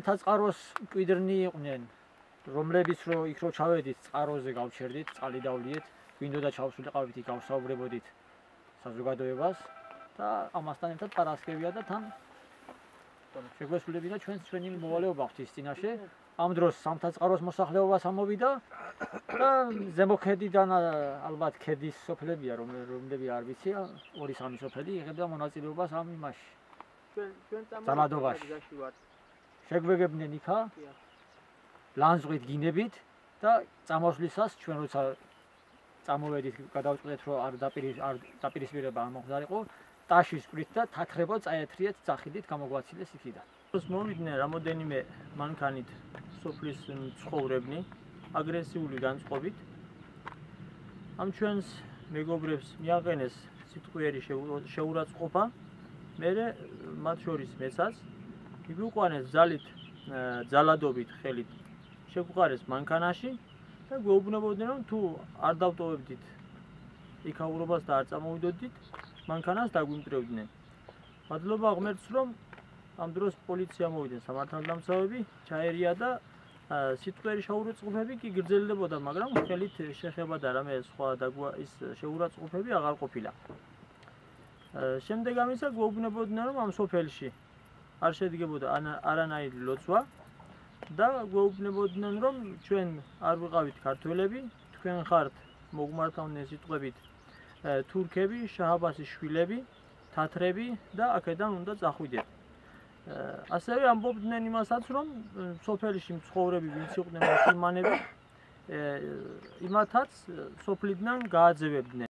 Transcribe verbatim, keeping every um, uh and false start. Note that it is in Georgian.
საწყაროს მკვიდრნი იყვნენ, რომლებიც რო იქ რო ჩავედით, წყაროზე გავჩერდით, წყალი დავლიეთ, გვინდოდა ჩავსულიყავით, იქ გავსაუბრებოდით საზოგადოებას და ამასთან ერთად პარასკევია და თან შეგვესრულებინა ჩვენს ჩვენი მოვალეობა ღვთის წინაშე. ამ დროს სამთაწყაროს მოსახლეობას ამოვიდა და ზემო ქედიდან ალბათ ქედის სოფლებია, რომლები არ ვიცი, ორი სამი სოფელი იღებდა მონაწილეობას ამ იმაში. ჩვენ ჩვენ წამალადობაში შეგვეგებდნენ იქა ლანძღვით გინებით და წამოსვლისას ჩვენ როცა წამოვედით, გადავწყვეტეთ რომ არ დაპირისპირება არ მოხდარიყო, ტაშის კვირით და თათრებო წაეთრიეთ, ძახილით გამოგვაცილეს იქიდან. მოვიდნენ რამოდენიმე მანქანით სოფლის მცხოვრებნი აგრესიული განწყობით. ამ ჩვენს მეგობრებს მიაყენეს სიტყვიერი შეურაცხყოფა. მერე მათ შორის მეცაც მიგვიყვანეს ძალით ძალადობით ხელით შეგვყარეს მანქანაში და გვეუბნებოდნენ რომ თუ არ დავტოვებდით იქაურობას და არ წამოვიდოდით მანქანას დაგვიმტვრევდნენ. მადლობა ღმერთს რომ ამ დროს პოლიცია მოვიდნენ სამართალდამცავები, ჩაერია და სიტყვიერი შეურაცხყოფები კი გრძელდებოდა, მაგრამ ხელით შეხება და რამე სხვა ის შეურაცხყოფები აღარ ყოფილა. შემდეგ ამისა გვეუბნებოდნენ რომ ამ სოფელში არ შედგებოდა არანაირი ლოცვა და გვეუბნებოდნენ რომ ჩვენ არ ვიყავით ქართველები, თქვენ ხართ მოგმართავდნენ სიტყვებით თურქები, შაჰ-აბასის შვილები, თათრები და აქედან უნდა წახვიდეთ. ასევე ამბობდნენ იმასაც რომ სოფელში მცხოვრები ვინც იყვნენ მუსულმანები იმათაც სოფლიდან გააძევებდნენ.